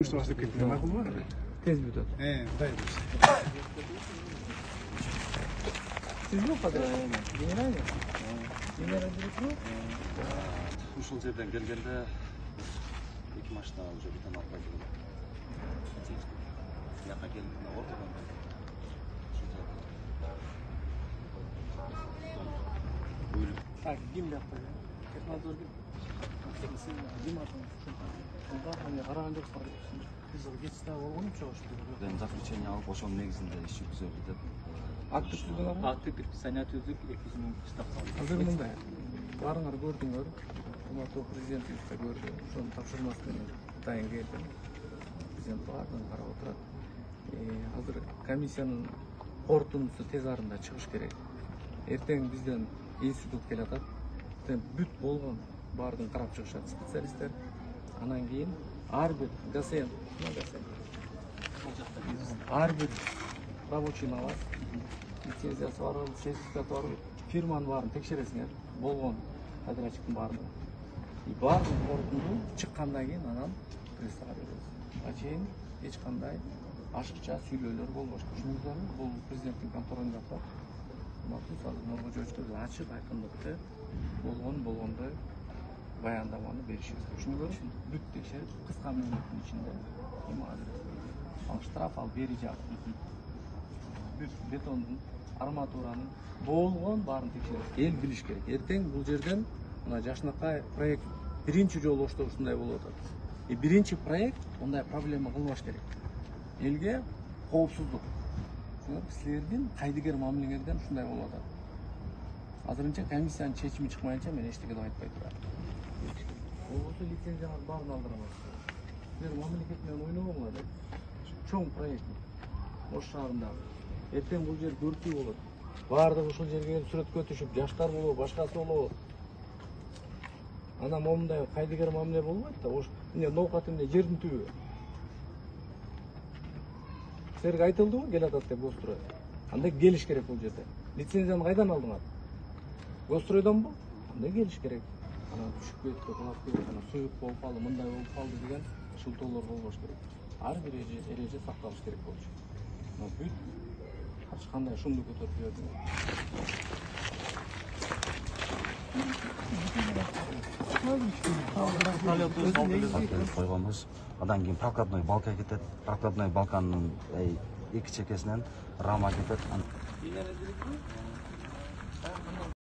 Что вас такие макулмар? Tez бүтөт. Дай. Сиз жок кадыр генеральный? Генеральный директор? Ушул жерден келгенде эки машина уже бутан алып келген. Бияка келгенде ортодон Так, Дим жакта. Технадзор ким? Дим атын. Караган жоксуңар. Биз кетиште болгон чогуш. Заключение алып ошонун негизинде иш жүргүзөлдү деп. Акты түздүңөр? Акты предписание түздүк 200 миң штраф. Азыр мындай. Барыңар көрдүңөр. Урматтуу президентибиз да көрдү. Ошонун тапшырмасы менен дайын келди. Президент баардыгын карап отурат. Азыр комиссиянын корутундусу тез арада чыгыш керек. Эртең бизден институт келатат. Бүт болгон баардыгын карап чыгышат специалисттер. Анан кийин ар бир ГАСЕН, ар бир рабочийни алат. Лицензиясы бар, сертификаты бар, фирманын баарын текшересиңер. Болгон подрядчиктин баардыгын. Баардык корутунду чыккандан кийин анан прессага беребиз. А чейин эч кандай ашыкча сүйлөөлөр болбош. Түшүндүңүзбү? Бул президенттин контролунда жатат. Мактус азыр Нургул Жойчтуз ачык айкындыкты болгондой баяндаманы беришибиз. Түшүндүңүзбү? Бүт текшерип, кыска мөөнөттүн ичинде эми азыр ал штраф ал бери жак. Бүт бетондун, арматуранын болгон баарын текшеребиз. Эл билиш керек. Эртең бул жерден мына Жашнакай проект биринчи жолу ушундай болуп атат. Биринчи проект мындай проблема кылбаш керек. Элге коопсуздук. Силердин кайдыгер мамилеңерден ушундай болуп атат. Азырынча комиссиянын чечими чыкмайынча мен эчтеке деп айтпай турам. Болбосо лицензияңыз баарын алдырамазсыздар. Силер мамлекет менен ойногоңула деп. Чоң проект. Ош шаарындагы. Эртең бул жер көркүй болот. Баардыгы ушул жерге келип сүрөткө түшүп, жаштар болобу, башкасы болобу. Анан момундай кайдыгер мамиле болбойт да. Ош эмне ноокат эмне жердин түбү. Силерге айтылдыбы келатат деп Гострой? Андай келиш керек бул жерде. Лицензияны кайдан алдыңар? Гостройдонбу? Андай келиш керек. Анан түшүп кетти, кулап кетти, анан суюк болуп калды, мындай болуп калды деген шылтоолор болбош керек. Ар бир эреже сакталыш керек болчу. Мына бүт ар кандай шумду көтөрүп жүрдү. Койгонбуз. Андан кийин прокладной балка кетет. Прокладной балканын эки чекесинен рама кетет.